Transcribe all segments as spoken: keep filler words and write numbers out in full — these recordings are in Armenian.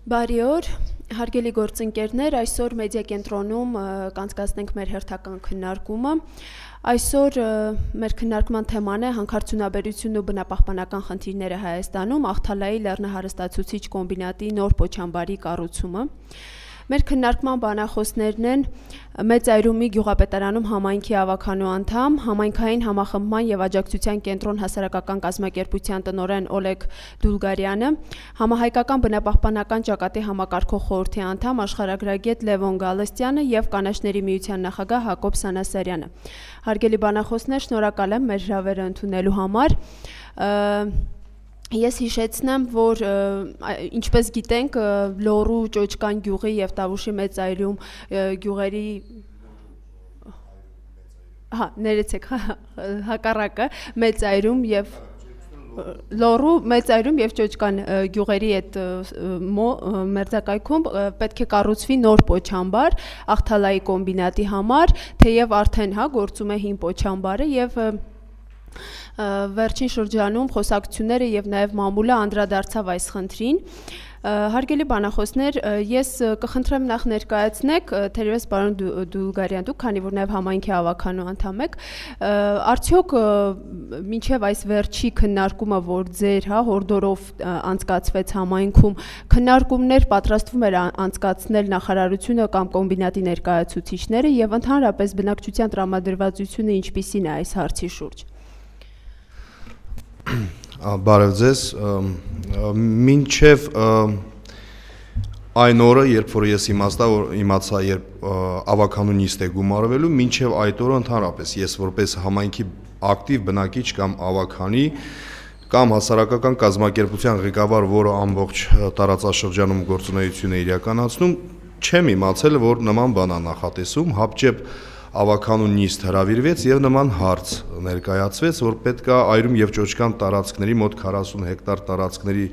Բարի օր, հարգելի գործընկերներ, այսօր մեդիա կենտրոնում կանցկացնենք մեր հերթական քննարկումը։ Այսօր մեր քննարկման թեման է հանքարդյունաբերությունն ու բնապահպանական խնդիրները Հայաստանում, Ախթալայի լեռնահարստացուցիչ կոմբինատի նոր պոչամբարի կառուցումը։ Մեր քննարկման բանախոսներն են Մեծ Այրումի գյուղապետարանում համայնքի ավականու անդամ, համայնքային համախմբման եւ աջակցության կենտրոն հասարակական կազմակերպության տնօրեն Օլեգ Դուլգարյանը, համահայկական բնապահպանական ճակատի համակարգող խորհրդի անդամ աշխարհագրագետ Լևոն Գալստյանը եւ Կանաչների միության նախագահ Հակոբ Սանասարյանը։ Հարգելի բանախոսներ, շնորհակալ եմ մեր հրավերը ընդունելու համար։ Ես հիշեցնեմ, որ ինչպես գիտենք, Լոռու, Ճոճկան գյուղի եւ Տավուշի Մեծ Այրում գյուղերի հա, ներեցեք, հակառակը Մեծ Այրում եւ Լոռու, Մեծ Այրում եւ Ճոճկան գյուղերի այդ մերձակայքում պետք է կառուցվի նոր պոչամբար Ախթալայի կոմբինատի համար, թեև արդեն հա գործում է հին պոչամբարը եւ վերջին շրջանում խոսակցությունները եւ նաեւ մամուլը անդրադարձավ այս խնդրին։ Հարգելի բանախոսներ, ես կխնդրեմ նախ ներկայացնեք, թերևս պարոն Դուլգարյան, դուք քանի որ նաեւ համայնքի ավականու անդամ եք, արդյոք մինչեւ այս վերջի քննարկումը, որ ձեր հա հորդորով անցկացվեց համայնքում, քննարկումներ պատրաստվում էր անցկացնել նախարարությունը կամ կոմբինատի ներկայացուցիչները եւ ընդհանրապես բնակչության տրամադրվածությունը ինչպիսին է այս հարցի շուրջ։ Բարև ձեզ, մինչև այն օրը, երբ որ ես իմացա, երբ ավականու նիստ է գումարվելու, մինչև այդ օրը ընդհանրապես ես որպես համայնքի ակտիվ բնակիչ կամ ավականի կամ հասարակական կազմակերպության ղեկավար, որը ամբողջ տարածաշրջանում գործունեություն է իրականացնում, չեմ իմացել, որ նման բան է նախատեսում, հապճեպ ավականու նիստ հրավիրվեց եւ նման հարց ներկայացվեց, որ պետք է Այրում եւ Ճոճկան տարածքների մոտ քառասուն հեկտար տարածքների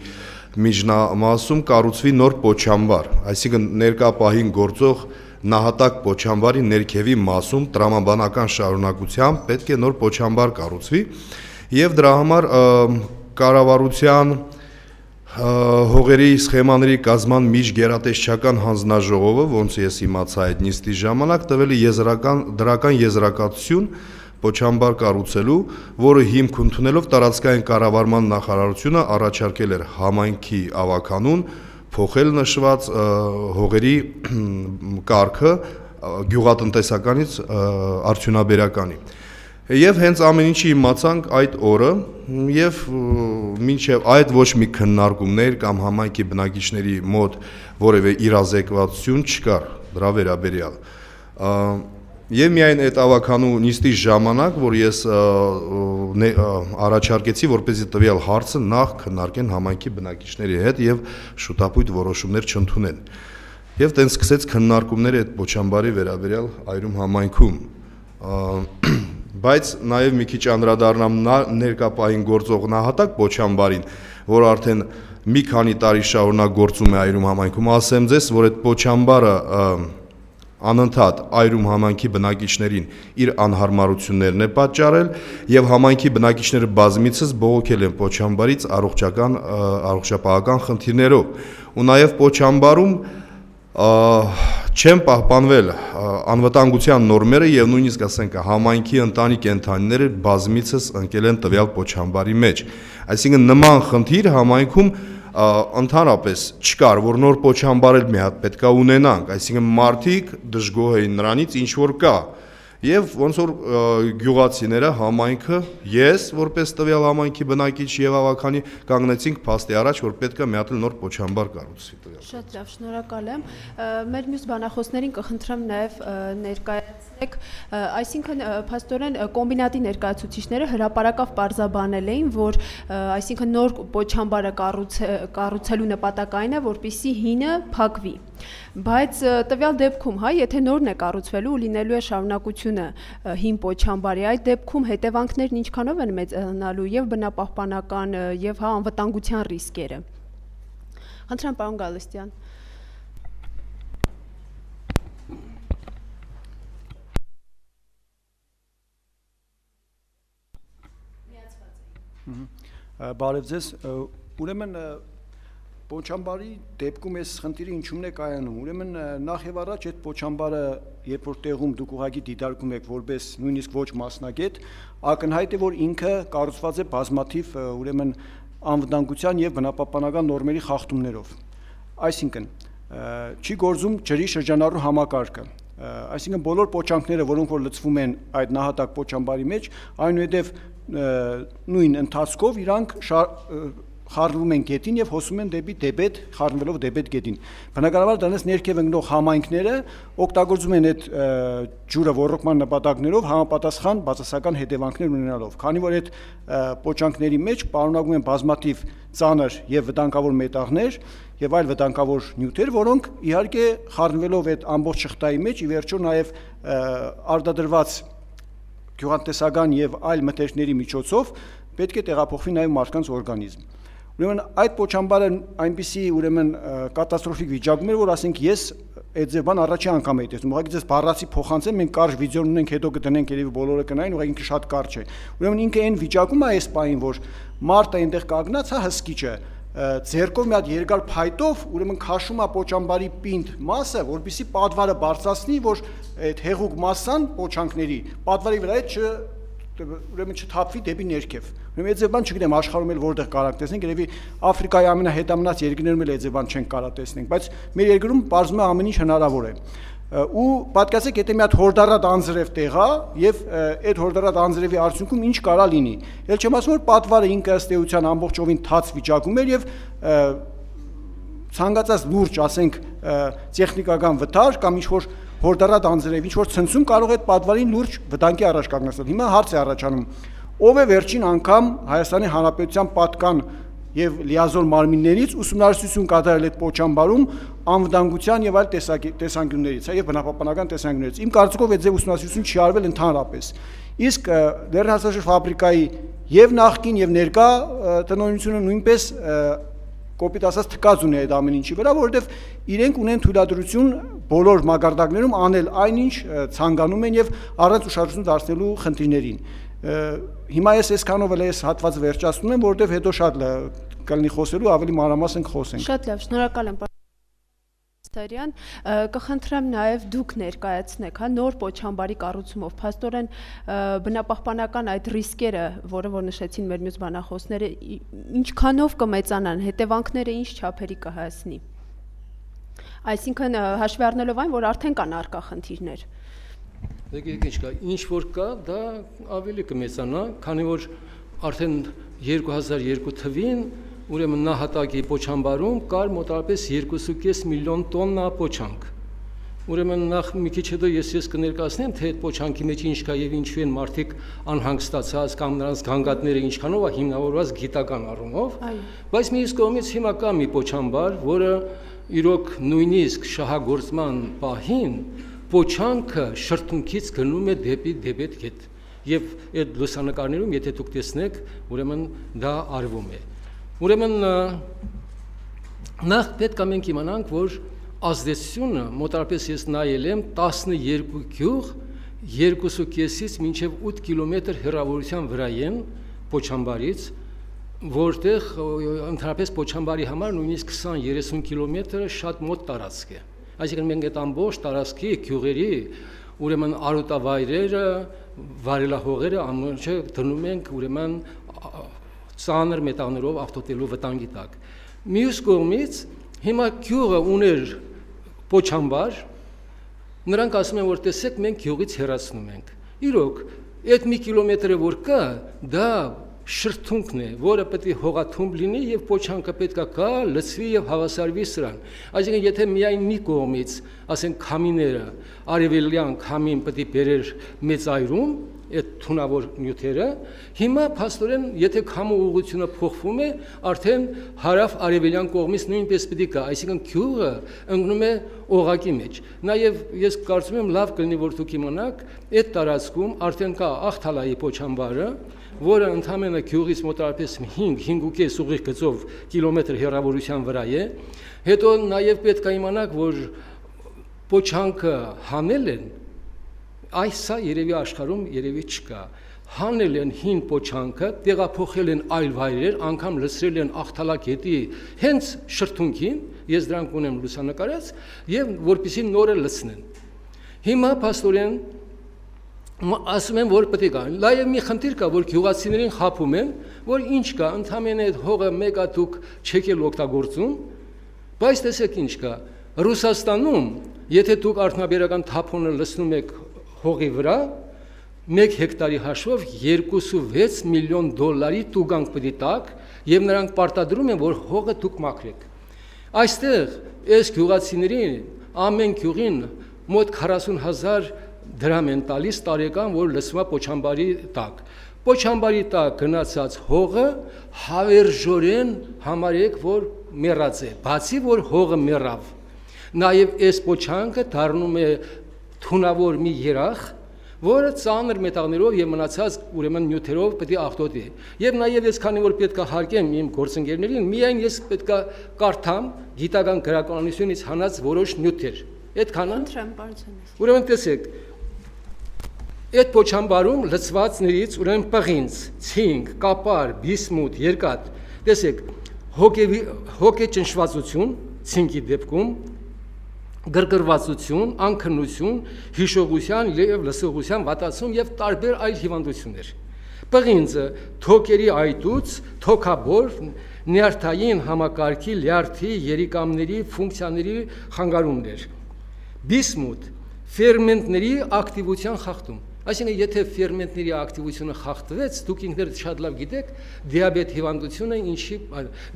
միջնամասում կառուցվի նոր պոչամբար, այսինքն ներկա պահին գործող նահատակ պոչամբարի ներքևի մասում տրամաբանական շարունակությամբ պետք է նոր պոչամբար կառուցվի եւ դրա համար կառավարության հողերի սխեմաների կազման միջգերատեսչական հանձնաժողովը, ոնց ես իմացա այդ նիստի ժամանակ, տվել է եզրական դրական եզրակացություն պոչամբար կառուցելու, որը հիմք ընդունելով տարածքային կառավարման նախարարությունը առաջարկել էր համայնքի ավականուն փոխել նշված հողերի կարգը գյուղատնտեսականից արդյունաբերականի։ Եվ հենց ամեն ինչի իմացանք այդ օրը եւ մինչեւ այդ ոչ մի քննարկումներ կամ համայնքի բնակիչների մոտ որևէ իրազեկվածություն չկար դրա վերաբերյալ։ Եվ միայն այդ ավականու նիստի ժամանակ, որ ես առաջարկեցի, որպեսզի տվյալ հարցը նախ քննարկեն համայնքի բնակիչների հետ եւ շուտապույտ որոշումներ չընդունեն։ Եվ տենց սկսեց քննարկումները այդ պոչամբարի վերաբերյալ Այրում համայնքում։ Բայց նաև մի քիչ անդրադառնամ ներկա պահին գործող նահատակ պոչամբարին, որ արդեն մի քանի տարի շարունակ գործում է Այրում համայնքում, ասեմ ձեզ, որ այդ պոչամբարը անընդհատ Այրում համայնքի բնակիչներին իր անհարմարություններն է պատճառել եւ համայնքի բնակիչները բազմիցս բողոքել են պոչամբարից առողջական առողջապահական խնդիրներով ու նաև պոչամբարում չեն պահպանվել անվտանգության նորմերը եւ նույնիսկ ասենք համայնքի ընտանի կենդանիները բազմիցս ընկել են տվյալ պոչամբարի մեջ։ Այսինքն նման խնդիր համայնքում ընդհանրապես չկար, որ նոր պոչամբար էլ մի հատ պետքա ունենանք, այսինքն մարդիկ դժգոհ էին նրանից, ինչ որ կա։ Եվ ոնց որ գյուղացիները համայնքը, ես որպես տվյալ համայնքի բնակիչ եւ ավականի կանգնեցինք փաստի առաջ, որ պետք է մի հատ նոր պոչամբար կառուցվի տվյալ։ Շատ լավ, շնորհակալ եմ։ Մեր մյուս բանախոսներին կխնդրեմ նաեւ ներկայացնեք, այսինքն փաստորեն կոմբինատի ներկայացուցիչները հրապարակավ պարզաբանել էին, որ այսինքն նոր պոչամբարը կառուցելու նպատակը այն է, որպեսզի հինը փակվի։ Բայց տվյալ դեպքում, հա, եթե նորն է կառուցվելու ու լինելու է շարունակությունը հին պոչամբարի, այդ դեպքում հետևանքներն ինչքանով են մեծանալու եւ բնապահպանական եւ հա անվտանգության ռիսկերը։ Խնդրեմ պարոն Գալստյան։ Բարև ձեզ, ուրեմն Պոչամբարի դեպքում այս խնդիրը ինչումն է կայանում։ Ուրեմն նախ եւ առաջ այդ պոչամբարը, երբ որ տեղում դուք ուղղակի դիտարկում եք որպես նույնիսկ ոչ մասնագետ, ակնհայտ է, որ ինքը կառուցված է բազմաթիվ ուրեմն անվտանգության եւ բնապահպանական նորմերի խախտումներով։ Այսինքն, չի գործում ջրի շրջանառու համակարգը։ Այսինքն բոլոր պոչանքները, որոնք որ լցվում են այդ նահատակ պոչամբարի մեջ, այնուհետև նույն ընթացքով իրանք խառնվում են գետին եւ հոսում են դեպի դեբետ, խառնվելով դեբետ գետին։ Բնականաբար դրանից ներքև ընկնող համայնքները օգտագործում են այդ ջուրը ոռոգման նպատակներով համապատասխան բացասական հետևանքներ ունենալով։ Քանի որ այդ պոչանքների մեջ պարունակում են բազմաթիվ ծանր եւ վտանգավոր մետաղներ եւ այլ վտանգավոր նյութեր, որոնք իհարկե խառնվելով այդ ամբողջ շղթայի մեջ ի վերջո նաեւ արտադրված գյուղատնտեսական եւ այլ մթերքների միջոցով պետք է տեղափոխվի նաեւ մարդկանց օրգանիզմ։ Ուրեմն այդ պոչամբարը այնպիսի ուրեմն կատաստրոֆիկ վիճակում էր, որ ասենք ես այդ ձև բան առաջի անգամ էի տեսնում։ Ուղղակի ձեզ բառացի փոխանցեմ, մենք կարճ վիդեոն ունենք, հետո կդնենք, երևի բոլորը կնային, ուղղակի ինքը շատ կարճ է։ Ուրեմն ինքը այն վիճակում է այս պահին, որ մարդը այնտեղ կանգնած, հա հսկիչը ձերքով մի հատ երկար փայտով ուրեմն քաշում է պոչամբարի պինդ մասը, որպեսզի պատվարը բարձրացնի, որ այդ հեղուկ մասսան պոչանքների պատվարի վրա է չ ուրեմն չթափվի դեպի ներքև։ Ուրեմն այդ ձևան չգիտեմ աշխարհում էլ որտեղ կարող տեսնենք, երևի Աֆրիկայի ամենահետամնաց երկրներում էլ այդ ձևան չենք կարող տեսնենք, բայց մեր երկրում բարձում է ամեն ինչ հնարավոր է։ Ու պատկասեք, եթե մի հատ հորդառատ անձրև տեղ է եւ այդ հորդառատ անձրևի արդյունքում ինչ կարա լինի։ Էլ չեմ ասում, որ պատվարը ինքը ըստ էության ամբողջովին թաց վիճակում էր եւ ցանկացած լուրջ, ասենք, տեխնիկական վթար կամ ինչ որ հորդառատ անձրև, ինչ որ ցնցում կարող է այդ պատվարին լուրջ վտանգի առաջ կանգնեցնել։ Հիմա հարց է առաջանում. ով է վերջին անգամ Հայաստանի Հանրապետության պատկան եւ լիազոր մարմիններից ուսումնասիրություն կատարել այդ պոչամբարում անվտանգության եւ այլ տեսանկյուններից, եւ բնապահպանական տեսանկյուններից։ Իմ կարծիքով այդ ձև ուսումնասիրություն չի արվել ընդհանրապես։ Իսկ լեռնահարցաշրջան ֆաբրիկայի եւ նախկին եւ ներկա տնօրինությունը նույնպես կոպիտ ասած թկած ունի այդ ամեն ինչի վրա, որովհետեւ իրենք ունեն թույլատրություն բոլոր մակարդակներում անել այնինչ ցանկանում են եւ առանց ուշադրություն դարձնելու խնդիրներին։ Հիմա ես այսքանով էլ այս հատվածը վերջացնում եմ, որովհետեւ հետո շատ կլինի խոսելու, ավելի մանրամասն կխոսենք։ Շատ լավ, շնորհակալ եմ Ստարյան, կխնդրեմ նաև դուք ներկայացնեք, հա, նոր պոչամբարի կառուցումով, փաստորեն բնապահպանական այդ ռիսկերը, որը որ նշեցին մեր մյուս բանախոսները, ինչքանով կմեծանան, հետևանքները ինչ չափերի կհասնի։ Այսինքն հաշվի առնելով այն, որ արդեն կան առկա խնդիրներ։ Դե ինչ կա, ինչ որ կա, դա ավելի կմեծանա, քանի որ արդեն երկու հազար երկու թվին ուրեմն նահատակի պոչամբարում կար մոտավորապես երկու կես միլիոն տոննա պոչանք։ Ուրեմն նախ մի քիչ հետո ես ես կներկայացնեմ, թե այդ պոչանքի մեջ ինչ կա եւ ինչու են մարդիկ անհանգստացած կամ նրանց գանգատները ինչքանով է հիմնավորված գիտական առումով, բայց մյուս կողմից հիմա կա մի պոչամբար, որը իրոք նույնիսկ շահագործման պահին պոչանքը շրթունքից գնում է դեպի դեբետ գետ։ Եվ այդ լուսանկարներում, եթե դուք տեսնեք, ուրեմն դա արվում է։ Ուրեմն նախ պետք է մենք իմանանք, որ ազդեցությունը մոտավորապես ես նայել եմ տասնյոթ գյուղ երկու կեսից մինչև ութ կիլոմետր հեռավորության վրա են պոչամբարից, որտեղ ընդհանրապես պոչամբարի համար նույնիսկ քսան երեսուն կիլոմետրը շատ մոտ տարածք է։ Այսինքն մենք այդ ամբողջ տարածքի գյուղերի ուրեմն արոտավայրերը, վարելահողերը ամենը դնում ենք ուրեմն ծանր մետաղներով ավտոտելու վտանգի տակ։ Մյուս կողմից հիմա գյուղը ուներ պոչամբար, նրանք ասում են, որ տեսեք, մենք գյուղից հեռացնում ենք։ Իրոք, այդ մի կիլոմետրը որ կա, դա շրթունքն է, որը պետք է հողաթումբ լինի եւ պոչանքը պետք է գա, լցվի եւ հավասարվի սրան։ Այսինքն, եթե միայն մի կողմից, ասենք քամիները, արևելյան քամին պետք է բերեր մեծ այրում, այդ թունավոր նյութերը, հիմա փաստորեն, եթե քամու ուղղությունը փոխվում է, արդեն հարավ-արևելյան կողմից նույնպես պետք է գա, այսինքն գյուղը ընկնում է օղակի մեջ։ Նաև ես կարծում եմ լավ կլինի, որ դուք իմանաք, այդ տարածքում արդեն կա Աղթալայի պոչամբարը, որը ընդամենը գյուղից մոտավորապես հինգ կես ուղիղ գծով կիլոմետր հեռավորության վրա է։ Հետո նաև պետք է իմանաք, որ պոչանքը հանել են, այս սա երևի աշխարհում երևի չկա։ հանել են հին պոչանքը, տեղափոխել են այլ վայրեր, անգամ լցրել են Աղթալագետի հենց շրթունքին, ես դրանք ունեմ լուսանկարած, եւ որպեսզի նորը լցնեն։ Հիմա փաստորեն ասում են, որ պետք է գան։ Լայև մի խնդիր կա, որ գյուղացիներին խափում են, որ ինչ կա, ընդհանրապես այդ հողը մեկա դուք չեք էլ օգտագործում, բայց տեսեք ինչ կա։ Ռուսաստանում, եթե դուք արդյունաբերական թափոնը լցնում եք հողի վրա, մեկ հեկտարի հաշվով երկուսունվեց միլիոն դոլարի տուգանք պետք է տաք, եւ նրանք պարտադրում են, որ հողը դուք մաքրեք։ Այստեղ այս գյուղացիներին ամեն գյուղին մոտ քառասուն հազար դրամ են տալիս տարեկան, որ լցվում է Պոչամբարի տակ։ Պոչամբարի տակ գնացած հողը հավերժորեն համարեք, որ մեռած է, բացի որ հողը մեռավ։ Նաև այս պոչանքը դառնում է թունավոր մի երախ, որը ծանր մետաղներով եւ մնացած ուրեմն նյութերով պետք է աղտոտի։ Եվ նաև ես քանի որ պետք է հարգեմ իմ գործընկերներին, միայն ես պետք է կարդամ գիտական գրականությունից հանած որոշ նյութեր։ Այդքանը։ Ուրեմն տեսեք, այդ պոչամբարում լցվածներից ուրեմն պղինձ, ցինկ, կապար, բիսմութ, երկաթ, տեսեք, հոգե ճնշվածություն, ցինկի դեպքում, գրգռվածություն, անքնություն, հիշողության եւ լսողության վատացում եւ տարբեր այլ հիվանդություններ։ Պղինձը թոքերի այտուց, թոքաբոր, նյարդային համակարգի, լյարդի, երիկամների ֆունկցիաների խանգարումներ։ Բիսմութ ֆերմենտների ակտիվության խախտում։ Այսինքն, եթե ֆերմենտների ակտիվությունը խախտվեց, դուք ինքներդ շատ լավ գիտեք, դիաբետ հիվանդությունը ինչի,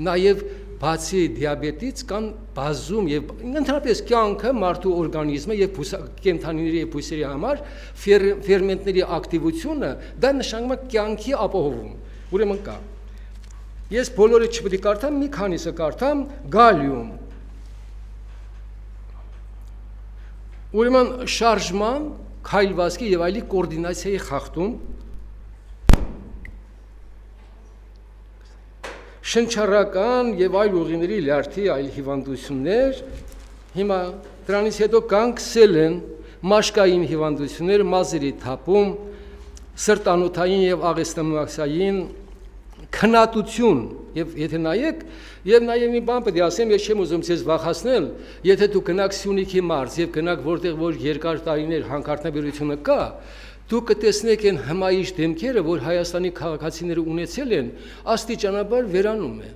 նաև բացի դիաբետից կան բազում եւ ընդհանրապես կյանքը մարդու օրգանիզմը եւ կենդանիների եւ բույսերի համար ֆերմենտների ակտիվությունը դա նշանակում է կյանքի ապահովում։ Ուրեմն կա։ Ես բոլորը չպետք է կարդամ, մի քանիսը կարդամ, գալիում։ Ուրեմն շարժման, քայլվածքի եւ այլի կոորդինացիայի խախտում, շնչառական եւ այլ ուղիների լյարդի այլ հիվանդություններ, հիմա դրանից հետո կանգսել են մաշկային հիվանդություններ, մազերի թափում, սրտանոթային եւ աղեստամաքսային քննատություն եւ եթե նայեք եւ նաեւ մի բան պետք է ասեմ, ես չեմ ուզում ցեզ վախացնել, եթե դու գնաք Սյունիքի մարզ եւ գնաք որտեղ որ երկար տարիներ հանքարդյունաբերությունը կա, դուք կտեսնեք այն հմայիչ դեմքերը, որ Հայաստանի քաղաքացիները ունեցել են, աստիճանաբար վերանում է։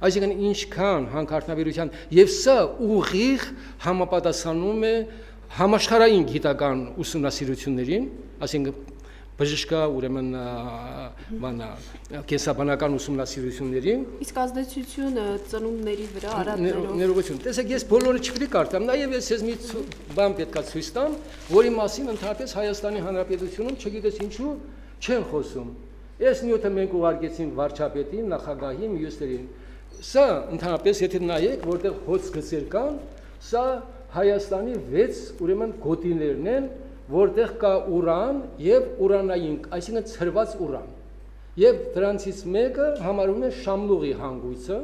Այսինքն ինչքան հանքարդյունաբերության եւ սա ուղիղ համապատասխանում է համաշխարհային գիտական ուսումնասիրություններին, այսինքն բժշկա ուրեմն բանա կենսաբանական ուսումնասիրություններին, իսկ ազդեցությունը ծնունդների վրա արատներով ներողություն։ Տեսեք, ես բոլորը չպետք է կարդամ, նաև ես ես մի բան պետք է ցույց տամ, որի մասին ընդհանրապես Հայաստանի Հանրապետությունում չգիտես ինչու չեն խոսում։ Այս նյութը մենք ուղարկեցինք վարչապետին, նախագահին, մյուսներին։ Սա ընդհանրապես եթե նայեք, որտեղ հոց գծեր կան, սա Հայաստանի վեց ուրեմն գոտիներն են, որտեղ կա ուրան եւ ուրանային, այսինքն ցրված ուրան։ Եվ դրանցից մեկը համարվում է Շամլուղի հանգույցը,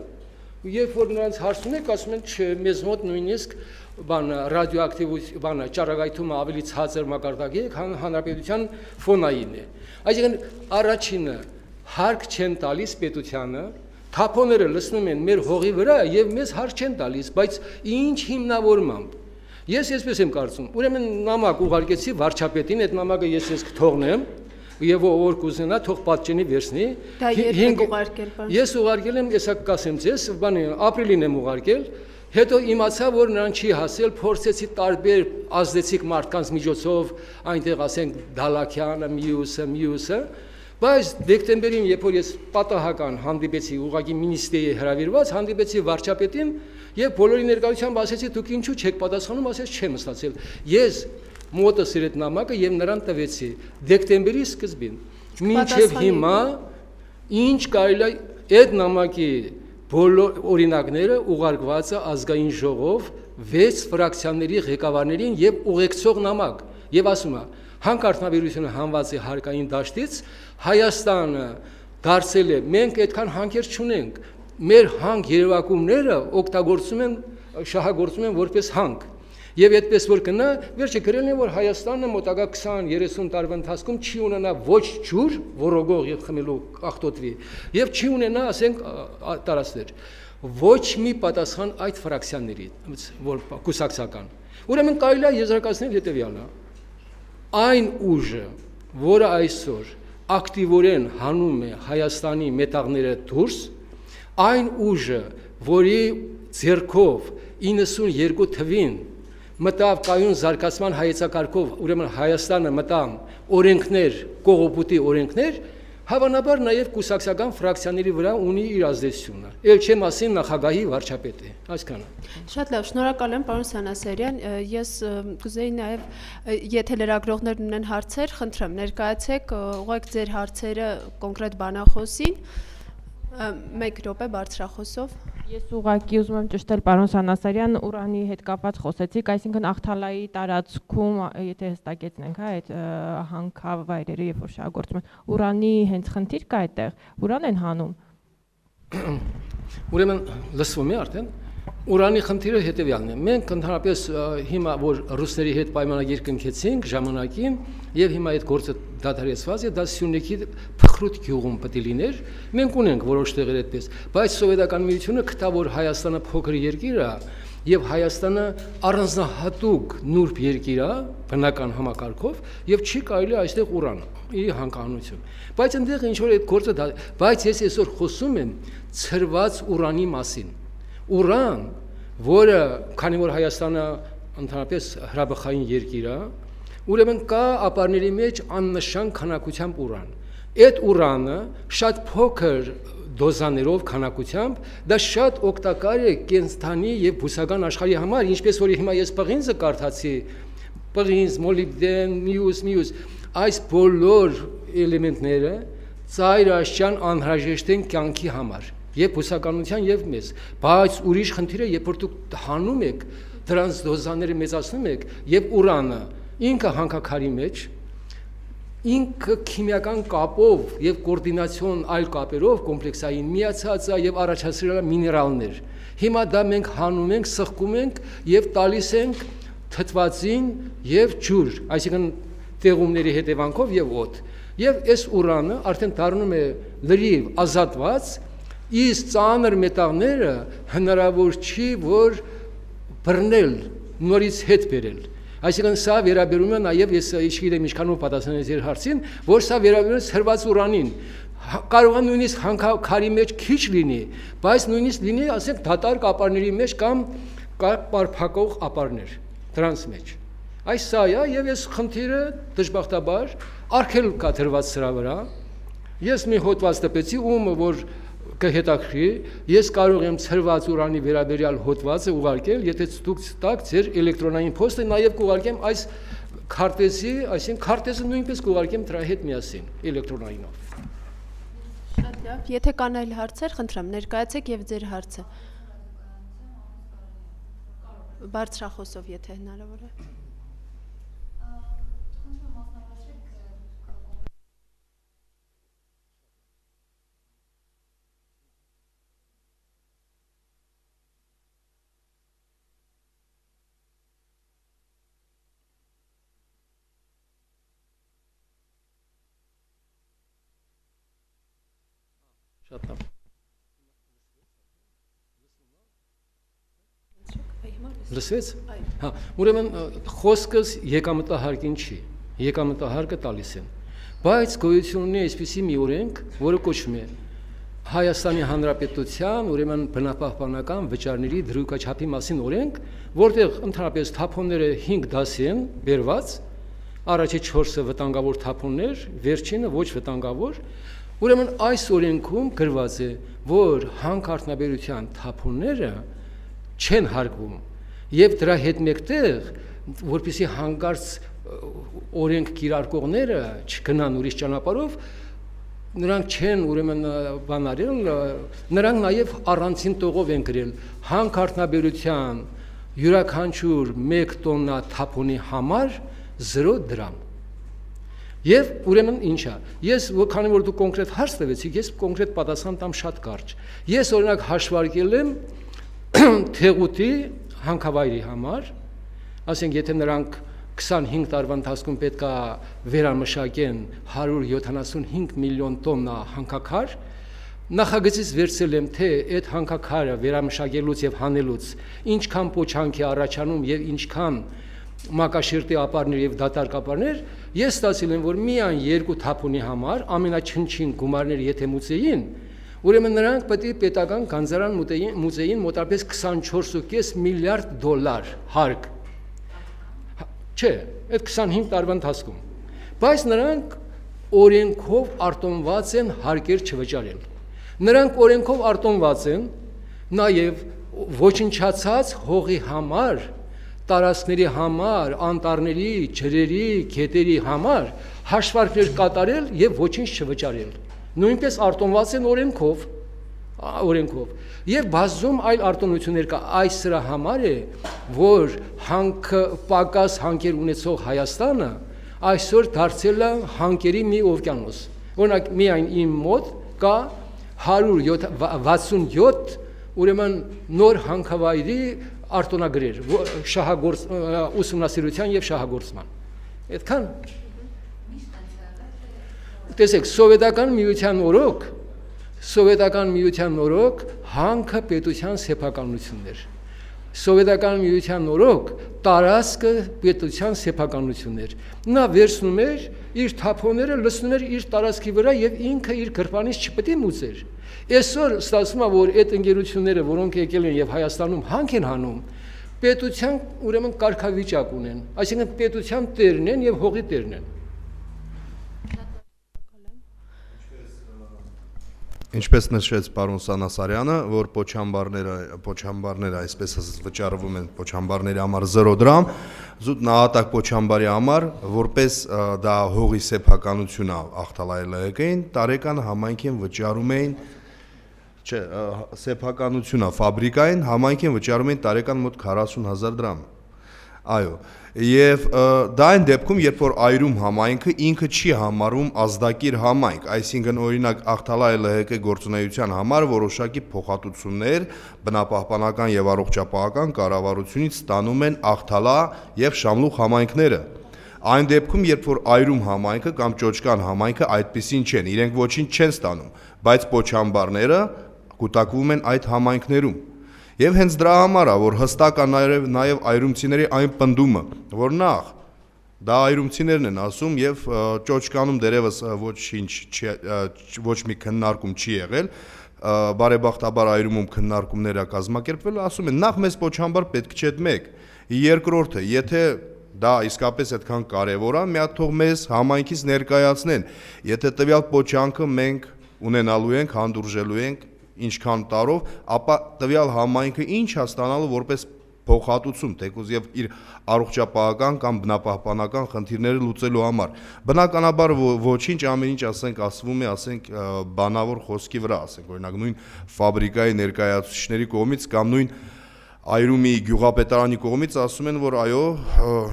երբ որ նրանց հարցնում եք, ասում են, չէ, մեզ մոտ նույնիսկ բան ռադիոակտիվ բանը ճառագայթումը ավելի ցածր մակարդակի է, քան հանրապետության ֆոնային է։ Այսինքն առաջինը հարկ չեն տալիս պետությանը, թափոնները լցնում են մեր հողի վրա եւ մեզ հարկ չեն տալիս, բայց ինչ հիմնավորմամբ։ Ես այսպես եմ կարծում, ուրեմն նամակ ուղարկեցի վարչապետին, այդ նամակը ես ես կթողնեմ եւ ով կուզենա թող պատճենի վերցնի։ Դա երբ ուղարկել բան։ Ես ուղարկել եմ, եսա կասեմ ձեզ, բանի ապրիլին եմ ուղարկել, հետո իմացա, որ նրան չի հասել, փորձեցի տարբեր ազդեցիկ մարդկանց միջոցով, այնտեղ ասենք Դալաքյանը, մյուսը, մյուսը, բայց դեկտեմբերին, երբ որ ես պատահական հանդիպեցի ուղղակի մինիստրիայի հրավիրված, հանդիպեցի վարչապետին եւ բոլորի ներկայությամբ ասեցի, դուք ինչու չեք պատասխանում, ասես չեմ ստացել։ Ես մոտս իր այդ նամակը եւ նրան տվեցի դեկտեմբերի սկզբին։ Մինչեւ հիմա ինչ կարելի է այդ նամակի բոլոր օրինակները ուղարկված է ազգային ժողով վեց ֆրակցիաների ղեկավարներին եւ ուղեկցող նամակ եւ ասում է հանքարդյունաբերությունը հանված է հարկային դաշտից, Հայաստանը դարձել է, մենք այդքան հանքեր չունենք, մեր հանք երևակումները օգտագործում են, շահագործում են որպես հանք։ Եվ այդպես որ կնա, վերջը գրել են, որ Հայաստանը մոտակա քսան երեսուն տարվա ընթացքում չի ունենա ոչ ջուր, որոգող եւ խմելու աղտոտվի, եւ չի ունենա, ասենք, տարածքներ։ Ոչ մի պատասխան այդ ֆրակցիաների, որ կուսակցական։ Ուրեմն կարելի է եզրակացնել հետեւյալը. այն ուժը, որը այսօր ակտիվորեն հանում է Հայաստանի մետաղները դուրս, այն ուժը, որի ձեռքով իննսունյերկու թվին մտավ կայուն զարգացման հայեցակարգով, ուրեմն Հայաստանը մտան օրենքներ, կողոպուտի օրենքներ, հավանաբար նաև կուսակցական ֆրակցիաների վրա ունի իր ազդեցությունը։ Էլ չեմ ասին նախագահի վարչապետի, այսքանը։ Շատ լավ, շնորհակալ եմ, պարոն Սանասարյան, ես կուզեի նաև, եթե լրագրողներն ունեն հարցեր, խնդրեմ, ներկայացեք, ուղղեք ձեր հարցերը կոնկրետ բանախոսին, մեկ րոպե բարձրախոսով։ Ես ուղղակի ուզում եմ ճշտել պարոն Սանասարյան, ուրանի հետ կապված խոսեցիք, այսինքն Ախթալայի տարածքում, եթե հստակեցնենք, հա, այդ հանքավայրերը, երբ որ շահագործում են, ուրանի հենց խնդիր կա այդտեղ, ուրան են հանում։ Ուրեմն լսվում է արդեն, ուրանի խնդիրը հետևյալն է։ Մենք ընդհանրապես հիմա որ ռուսների հետ պայմանագիր կնքեցինք ժամանակին եւ հիմա այդ գործը դադարեցված է, դա Սյունիքի փխրուտ գյուղում պետք է լիներ։ Մենք ունենք որոշ տեղեր այդպես, բայց սովետական միությունը գտա որ Հայաստանը փոքր երկիր է եւ Հայաստանը առանձնահատուկ նուրբ երկիր է բնական համակարգով եւ չի կարելի այստեղ ուրան ի հանքահանություն։ Բայց այնտեղ ինչ որ այդ գործը դա, բայց ես այսօր խոսում եմ ծրված ուրանի մասին։ Ուրան, որը քանի որ Հայաստանը ընդհանրապես հրաբխային երկիր է, ուրեմն կա ապարների մեջ աննշան քանակությամբ ուրան։ Այդ ուրանը շատ փոքր դոզաներով քանակությամբ դա շատ օգտակար է կենսանի եւ բուսական աշխարհի համար, ինչպես որ հիմա ես պղինձը կարդացի, պղինձ, մոլիբդեն, մյուս, մյուս, այս բոլոր էլեմենտները ծայրաշրջան անհրաժեշտ են կյանքի համար։ Եվ բուսականության եւ մեզ, բայց ուրիշ խնդիրը երբ որ դուք հանում եք դրանց դոզաները մեծացնում եք եւ ուրանը ինքը հանքաքարի մեջ ինքը քիմիական կապով եւ կոորդինացիոն այլ կապերով կոմպլեքսային միացած է եւ առաջացրել է միներալներ։ Հիմա դա մենք հանում ենք, սխկում ենք եւ տալիս ենք թթվածին եւ ջուր, այսինքն տեղումների հետևանքով եւ օդ։ Եվ այս ուրանը արդեն դառնում է լրիվ ազատված, իսկ ծանր մետաղները հնարավոր չի որ բռնել, նորից հետ բերել։ Այսինքն սա վերաբերում է նաև ես իշխիդեմ ինչքանով պատասխանել ձեր հարցին, որ սա վերաբերում է սրված ուրանին։ Կարող է նույնիսկ հանքաքարի մեջ քիչ լինի, բայց նույնիսկ լինի, ասենք, դատարկ ապարների մեջ կամ պարփակող ապարներ դրանց մեջ։ Այս սա է եւ ես խնդիրը դժբախտաբար արգելք կա դրված սրա վրա։ Ես մի հոդված տպեցի, ում որ կհետաքրի, ես կարող եմ ցրված ուրանի վերաբերյալ հոդվածը ուղարկել, եթե դուք տաք ձեր էլեկտրոնային փոստը, նաև կուղարկեմ այս քարտեզի, այսինքն քարտեզը նույնպես կուղարկեմ դրա հետ միասին էլեկտրոնայինով։ Շատ լավ, եթե կան այլ հարցեր, խնդրեմ, ներկայացեք եւ ձեր հարցը։ Բարձրախոսով, եթե հնարավոր է։ Շատ լավ։ Լսվեց։ Հա, ուրեմն խոսքս եկամտահարկին չի, եկամտահարկը տալիս են, բայց գոյություն ունի այսպիսի մի օրենք, որը կոչվում է Հայաստանի Հանրապետության, ուրեմն բնապահպանական վճարների դրույքաչափի մասին օրենք, որտեղ ընդհանրապես թափոնները հինգ դասի են բերված, առաջի չորսը վտանգավոր թափոններ, վերջինը ոչ վտանգավոր։ Ուրեմն այս օրենքում գրված է, որ հանքարդյունաբերության թափոնները չեն հարկվում եւ դրա հետ մեկտեղ, որպեսզի հանկարծ օրենք կիրարկողները չգնան ուրիշ ճանապարհով, նրանք չեն ուրեմն բանարել, նրանք նաեւ առանցին տողով են գրել հանքարդյունաբերության յուրաքանչյուր մեկ տոննա թափոնի համար զրո դրամ։ Եվ ուրեմն ինչա, ես քանի որ դու կոնկրետ հարց տվեցիք, ես կոնկրետ պատասխան տամ շատ կարճ։ Ես օրինակ հաշվարկել եմ Թեղուտի հանքավայրի համար, ասենք եթե նրանք քսանհինգ տարվա ընթացքում պետք է վերամշակեն հարյուր յոթանասունհինգ միլիոն տոննա հանքաքար, նախագծից վերցրել եմ, թե այդ հանքաքարը վերամշակելուց եւ հանելուց ինչքան փոչանք է առաջանում եւ ինչքան մակաշերտի ապարներ եւ դատարկ ապարներ, ես ստացել եմ, որ միայն երկու թափոնի համար ամենաչնչին գումարները եթե մուծեին, ուրեմն նրանք պետք է պետական գանձարան մուծեին մոտավորապես քսանչորս կόμμα պենս միլիարդ դոլար հարկ։ Չէ, այդ քսանհինգ տարվա ընթացքում։ Բայց նրանք օրենքով արտոնված են հարկեր չվճարել։ Նրանք օրենքով արտոնված են նաև ոչնչացած հողի համար, տարածքների համար, անտառների, ջրերի, գետերի համար հաշվարկներ կատարել եւ ոչինչ չվճարել։ Նույնպես արտոնված են օրենքով, օրենքով։ Եվ բազում այլ արտոնություններ կա, այս սրա համար է, որ հանքը պակաս հանքեր ունեցող Հայաստանը այսօր դարձել է հանքերի մի օվկիանոս։ Օրինակ միայն իմ մոտ կա հարյուր վաթսունյոթ ուրեմն նոր հանքավայրի արտոնագրեր շահագործ ուսումնասիրության եւ շահագործման։ Այդքան։ Տեսեք, սովետական միության օրոք, սովետական միության օրոք հանքը պետության սեփականությունն էր։ Սովետական միության օրոք տարածքը պետության սեփականությունն էր։ Նա վերցնում էր իր թափոնները, լցնում էր իր տարածքի վրա եւ ինքը իր գրպանից չպետք է մուծեր։ Այսօր ստացվում է, որ այդ ընկերությունները, որոնք եկել են եւ Հայաստանում հանք են հանում, պետության ուրեմն կարգավիճակ ունեն, այսինքն պետության տերն են եւ հողի տերն են։ Ինչպես նշեց պարոն Սանասարյանը, որ փոչամբարները, փոչամբարները այսպես ասած վճարվում են փոչամբարների համար զրո դրամ, զուտ նահատակ փոչամբարի համար, որպես դա հողի սեփականություն է Ախթալայի ԼՀԿ-ին, տարեկան համայնքին վճարում էին, չէ, սեփականություն է ֆաբրիկային, համայնքին վճարում էին տարեկան մոտ քառասուն հազար դրամ։ Այո, եւ դա այն դեպքում, երբ որ այրում համայնքը ինքը չի համարվում ազդակիր համայնք, այսինքն օրինակ Ախթալայի ԼՀԿ գործունեության համար որոշակի փոխհատուցումներ բնապահպանական եւ առողջապահական կառավարությունից ստանում են Ախթալա եւ Շամլուխ համայնքները։ Այն դեպքում, երբ որ այրում համայնքը կամ Ճոճկան համայնքը այդպեսին չեն, իրենք ոչինչ չեն ստանում, բայց փոչամբարները կուտակվում են այդ համայնքներում։ Եվ հենց դրա համար է, որ հստակ է նաև նաև այրումցիների այն պնդումը, որ նախ դա այրումցիներն են ասում եւ Ճոճկանում դերևս ոչինչ ոչ մի քննարկում չի եղել, բարեբախտաբար այրումում քննարկումներ է կազմակերպվել, ասում են նախ մեզ փոչամբար պետք չէ մեկ, երկրորդը, եթե դա իսկապես այդքան կարևոր է, մի հատ թող մեզ համայնքից ներկայացնեն, եթե տվյալ փոչանքը մենք ունենալու ենք, հանդուրժելու ենք ինչքան տարով, ապա տվյալ համայնքը ինչ է ստանալու որպես փոխհատուցում, թեկուզ եւ իր առողջապահական կամ բնապահպանական խնդիրները լուծելու համար։ Բնականաբար ոչինչ ամեն ինչ ասենք ասվում է, ասենք բանավոր խոսքի վրա, ասենք օրինակ նույն ֆաբրիկայի ներկայացուցիչների կողմից կամ նույն այրումի գյուղապետարանի կողմից ասում են, որ այո,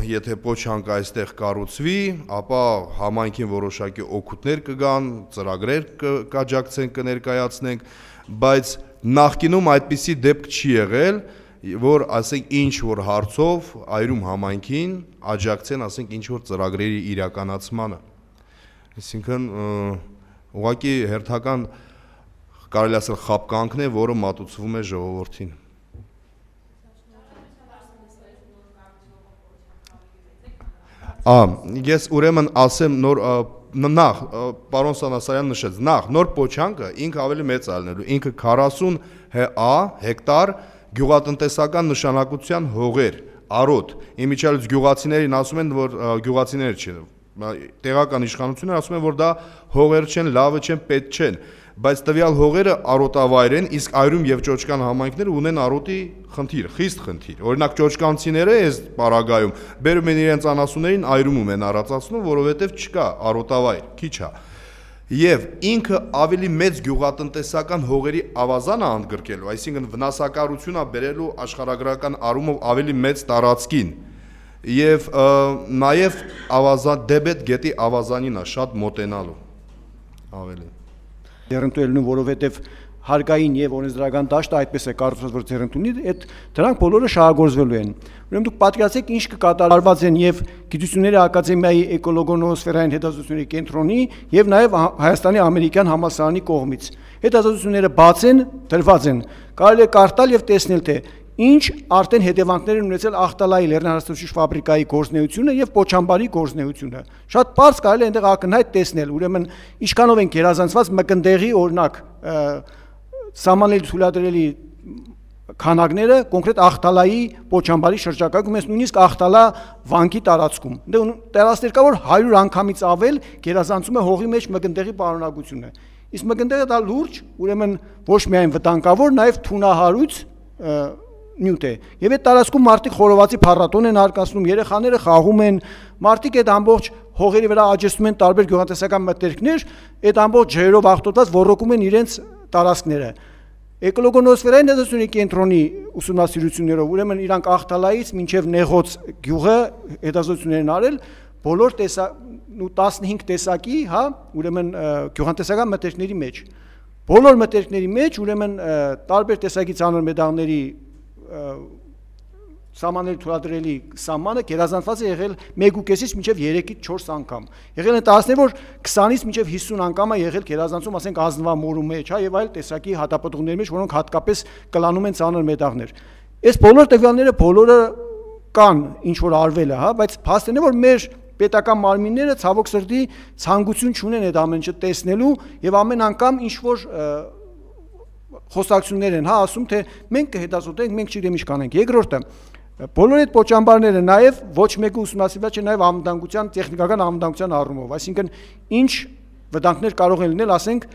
եթե փոչանք այստեղ կառուցվի, ապա համայնքին որոշակի օգուտներ կգան, ծրագրեր կաջակցենք, կներկայացնենք, բայց նախկինում այդպիսի դեպք չի եղել, որ ասենք ինչ որ հարցով այրում համայնքին աջակցեն, ասենք ինչ որ ծրագրերի իրականացմանը։ Այսինքն ուղղակի հերթական կարելի ասել խապկանքն է, որը մատուցվում է ժողովրդին։ Ա, ես ուրեմն ասեմ նոր նախ պարոն Սանասարյանը նշեց, նախ նոր փոչանքը ինքը ավելի մեծ ալնելու, ինքը քառասուն հեկտար գյուղատնտեսական նշանակության հողեր, արոտ, իմիջիալից գյուղացիներին ասում են, որ գյուղացիներ չեն, տեղական իշխանությունները ասում են, որ դա հողեր չեն, լավը չեն, պետք չեն, բայց տվյալ հողերը արոտավայր են, իսկ այրում եւ Ճոճկան համայնքները ունեն արոտի խնդիր, խիստ խնդիր։ Օրինակ ճոճկանցիները այս պարագայում բերում են իրենց անասուններին այրումում են առածացնում, որովհետեւ չկա արոտավայր, քիչ է։ Եվ ինքը ավելի մեծ գյուղատնտեսական հողերի ավազան է ընդգրկելու, այսինքն վնասակարություն է բերելու աշխարհագրական առումով ավելի մեծ տարածքին։ Եվ նաեւ ավազան դեբետ գետի ավազանին է շատ մոտենալու։ Ավելի Դերընտուելնու, որովհետև հարգային եւ օրենսդրական դաշտը այդպես է կառուցված, որ ձեռնտունի, այդ դրանք բոլորը շահագործվելու են։ Ուրեմն դուք պատկերացրեք ինչ կկատարված են եւ Գիտությունների ակադեմիայի էկոլոգոնոսֆերային հետազոտությունների կենտրոնի եւ նաեւ Հայաստանի ամերիկյան համալսարանի կողմից։ Հետազոտությունները բաց են, դրված են։ Կարելի է կարդալ եւ տեսնել թե ինչ արդեն հետևանքներ են ունեցել Ախտալայի լեռնահարստությունների ֆաբրիկայի գործունեությունը եւ Պոչամբարի գործունեությունը։ Շատ բարձ կարելի է այնտեղ ակնհայտ տեսնել, ուրեմն ինչքանով են գերազանցված մկնդեղի օրինակ սահմանելի թույլատրելի քանակները կոնկրետ Ախտալայի Պոչամբարի շրջակայքում, ես նույնիսկ Ախտալա վանքի տարածքում։ Տեղասներ կա, որ հարյուր անգամից ավել գերազանցում է հողի մեջ մկնդեղի պարունակությունը։ Իսկ մկնդեղը դա լուրջ, ուրեմն ոչ միայն վտանգավոր, նաեւ թունահարույց նյութ է։ Եվ այդ տարածքում մարդիկ խորովածի փառատոն են արկածնում, երեխաները խաղում են, մարդիկ այդ ամբողջ հողերի վրա աճեցնում են տարբեր գյուղատնտեսական մթերքներ, այդ ամբողջ ջրերով աղտոտված ոռոգում են իրենց տարածքները։ Էկոլոգոնոսֆերային հետազոտությունների կենտրոնի ուսումնասիրություններով, ուրեմն իրանք Ախտալայից մինչև Նեղոց գյուղը հետազոտություններ են արել, բոլոր տեսակ ու տասնհինգ տեսակի, հա, ուրեմն գյուղատնտեսական մթերքների մեջ։ Բոլոր մթերքների մեջ, ուրեմն տարբեր տեսակի ծանր մետաղների սահմանների թույլատրելի սահմանը գերազանցված է եղել մեկ ու կեսից մինչև երեքից չորս անգամ։ Եղել են տարածքներ, որ քսանից մինչև հիսուն անգամ է եղել գերազանցում, ասենք ազնվամորու մեջ, հա, եւ այլ տեսակի հատապտուղների մեջ, որոնք հատկապես կլանում են ծանր մետաղներ։ Այս բոլոր տվյալները բոլորը կան, ինչ որ արվել է, հա, բայց փաստն է, որ մեր պետական մարմինները ցավոք սրտի ցանկություն չունեն այդ ամեն ինչը տեսնելու եւ ամեն անգամ ինչ որ խոսակցություններ են, հա, ասում թե մենք կհետազոտենք, մենք չգիտեմ ինչ կանենք։ Երկրորդը, բոլոր այդ պոչամբարները նաև ոչ մեկը ուսումնասիրված չէ նաև անվտանգության, տեխնիկական անվտանգության առումով, այսինքն ինչ վտանգներ կարող են լինել, ասենք,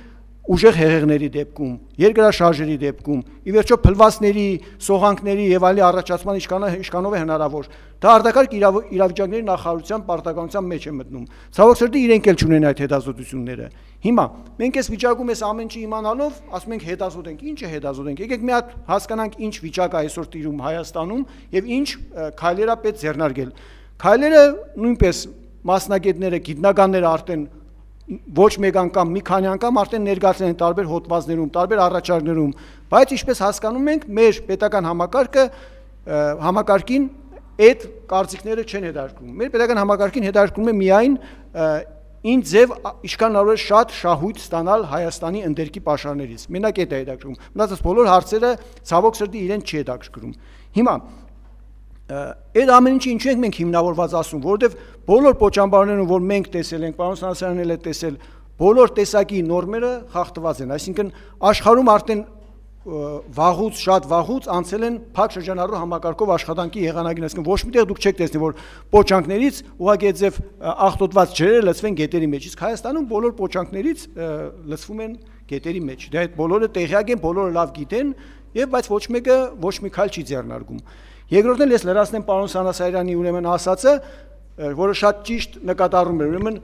ուժեղ հեղեղների դեպքում, երկրաշարժերի դեպքում, ի վերջո փլվածների, սողանքների եւ այլի առաջացման ինչքանով է հնարավոր։ Դա արտակարգ իրավիճակների նախարարության պարտականության մեջ է մտնում։ Ցավոք սրտի իրենք էլ չունեն այդ հետազոտությունները։ Հիմա մենք այս վիճակում այս ամեն ինչը իմանալով ասում ենք հետազոտենք, ի՞նչը հետազոտենք։ Եկեք մի հատ հասկանանք ինչ վիճակ է այսօր տիրում Հայաստանում եւ ինչ քայլեր է պետք ձեռնարկել։ Քայլերը նույնպես մասնագետները, գիտնականները արդեն ոչ մեկ անգամ, մի քանի անգամ արդեն ներկայացել են տարբեր հոդվածներում, տարբեր առաջարկներում, բայց ինչպես հասկանում ենք, մեր պետական համակարգը համակարգին այդ կարծիքները չեն հետարկում։ Մեր պետական համակարգին հետարկում է միայն ինչ ձև ինչքան կարող է շատ շահույթ ստանալ Հայաստանի ընդերքի պաշարներից։ Մենակ այդ է հետաքրքրում։ Մնացած բոլոր հարցերը ցավոք սրտի իրեն չի հետաքրքրում։ Հիմա այդ ամեն ինչը ինչու ենք մենք հիմնավորված ասում, որովհետև բոլոր պոչամբարներում, որ մենք տեսել ենք, պարոն Սանասարյանն էլ է տեսել, բոլոր տեսակի նորմերը խախտված են, այսինքն աշխարհում արդեն վաղուց, շատ վաղուց անցել են փակ շրջանառու համակարգով աշխատանքի եղանակին, այսինքն ոչ միտեղ դուք չեք տեսնի, որ պոչանքներից ուղղակի այդպես աղտոտված ջրերը լցվեն գետերի մեջ, իսկ Հայաստանում բոլոր պոչանքներից լցվում են գետերի մեջ։ Դա այդ բոլորը տեղյակ են, բոլորը լավ գիտեն, եւ բայց ոչ մեկը ոչ մի քայլ չի ձեռնարկում։ Երկրորդն էլ ես լրացնեմ պարոն Սանասարյանի ուրեմն ասածը, որը շատ ճիշտ նկատառում է, ուրեմն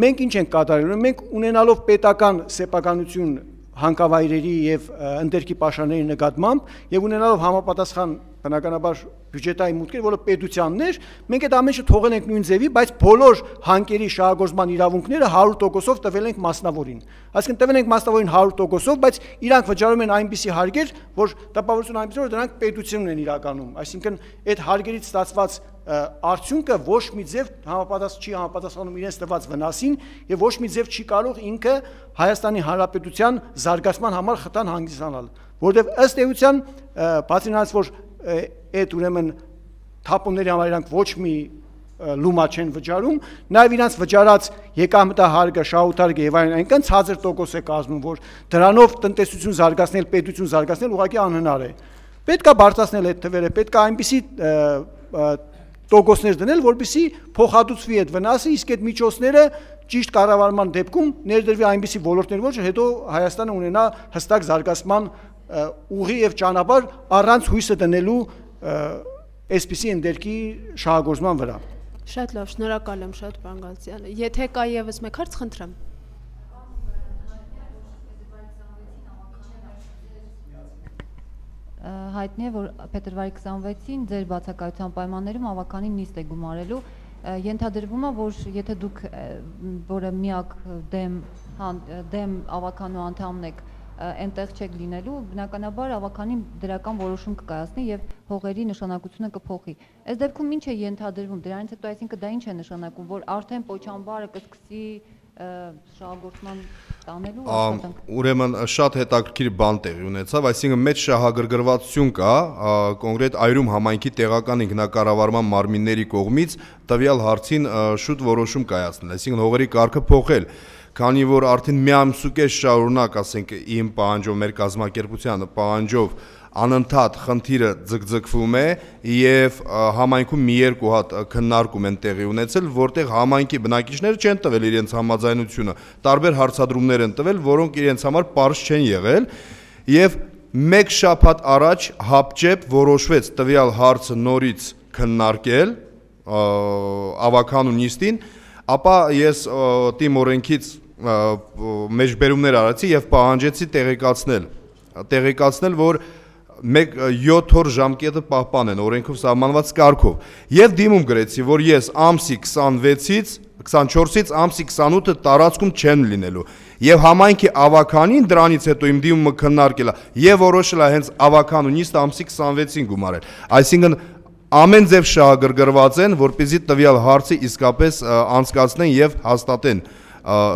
մենք ինչ ենք կատարել, ուրեմն մենք ունենալով պետական սեփականություն հանքավայրերի եւ ընդերքի պաշարների նկատմամբ եւ ունենալով համապատասխան բնականաբար բյուջետային մուտքեր, որը պետությանն էր, մենք այդ ամենը թողել ենք նույն ձևի, բայց բոլոր հանքերի շահագործման իրավունքները հարյուր տոկոսով տվել ենք մասնավորին։ Այսինքն տվել ենք մասնավորին հարյուր տոկոսով, բայց իրանք վճարում են այնպիսի հարկեր, որ տպավորություն այնպիսի որ դրանք պետությունն են իրականում։ Այսինքն այդ հարկերից ստացված արդյունքը ոչ մի ձև համապատասխան չի համապատասխանում իրենց տված վնասին եւ ոչ մի ձև չի կարող ինքը Հայաստանի Հանրապետության զարգացման համար խթան հանգստանալ, որովհետեւ ըստ էության բացի նրանից որ այդ ուրեմն թափոնների համար իրանք ոչ մի լումա չեն վճարում, նաև իրանց վճարած եկամտահարկը, շահութարկը եւ այլն այնքան ցածր տոկոս է կազմում, որ դրանով տնտեսություն զարգացնել, պետություն զարգացնել ուղղակի անհնար է։ Պետք է բարձրացնել այդ թվերը, պետք է այնպիսի տոկոսներ դնել, որպեսզի փոխհատուցվի այդ վնասը, իսկ այդ միջոցները ճիշտ կառավարման դեպքում ներդրվի այնպիսի ոլորտներ, որ հետո Հայաստանը ունենա հստակ զարգացման ուղի եւ ճանապարհ առանց հույսը դնելու այսպիսի ընդերքի շահագործման վրա։ Շատ լավ, շնորհակալ եմ շատ պարոն Գալստյանը։ Եթե կա եւս մեկ հարց, խնդրեմ։ Հայտնի է, որ փետրվարի քսանվեցին ձեր բացակայության պայմաններում ավականին նիստ է գումարելու, ենթադրվում է, որ եթե դուք որը միակ դեմ դեմ ավականու անդամն եք, այնտեղ չեք լինելու, բնականաբար ավականին դրական որոշում կկայացնի եւ հողերի նշանակությունը կփոխի։ Այս դեպքում ինչ է ենթադրվում, դրանից հետո այսինքն դա ինչ է նշանակում, որ արդեն Պոչամբարը կսկսի շահագործման տանելու աշխատանք։ Ուրեմն շատ հետաքրքիր բան տեղի ունեցավ, այսինքն մեծ շահագրգռվածություն կա կոնկրետ Այրում համայնքի տեղական ինքնակառավարման մարմինների կողմից տվյալ հարցին շուտ որոշում կայացնել, այսինքն հողերի կարգը փոխել, քանի որ արդեն մի ամսուկես շարունակ, ասենք իմ պահանջով, մեր կազմակերպության պահանջով անընդհատ խնդիրը ձգձգվում է եւ համայնքում մի երկու հատ քննարկում են տեղի ունեցել, որտեղ համայնքի բնակիչները չեն տվել իրենց համաձայնությունը, տարբեր հարցադրումներ են տվել, որոնք իրենց համար պարզ չեն եղել եւ մեկ շաբաթ առաջ հապճեպ որոշվեց տվյալ հարցը նորից քննարկել ավականու նիստին, ապա ես թիմ օրենքից մեջբերումներ արեցի եւ պահանջեցի տեղեկացնել, տեղեկացնել, որ մեկ յոթ օր ժամկետը պահպանեն օրենքով սահմանված կարգով եւ դիմում գրեցի, որ ես ամսի քսանվեցից քսանչորսից ամսի քսանութը տարածքում չեմ լինելու եւ համայնքի ավականին դրանից հետո իմ դիմումը քննարկել է եւ որոշել է հենց ավականու նիստը ամսի քսանվեցին գումարել, այսինքն ամեն ձև շահագրգռված են, որպեսզի տվյալ հարցը իսկապես անցկացնեն եւ հաստատեն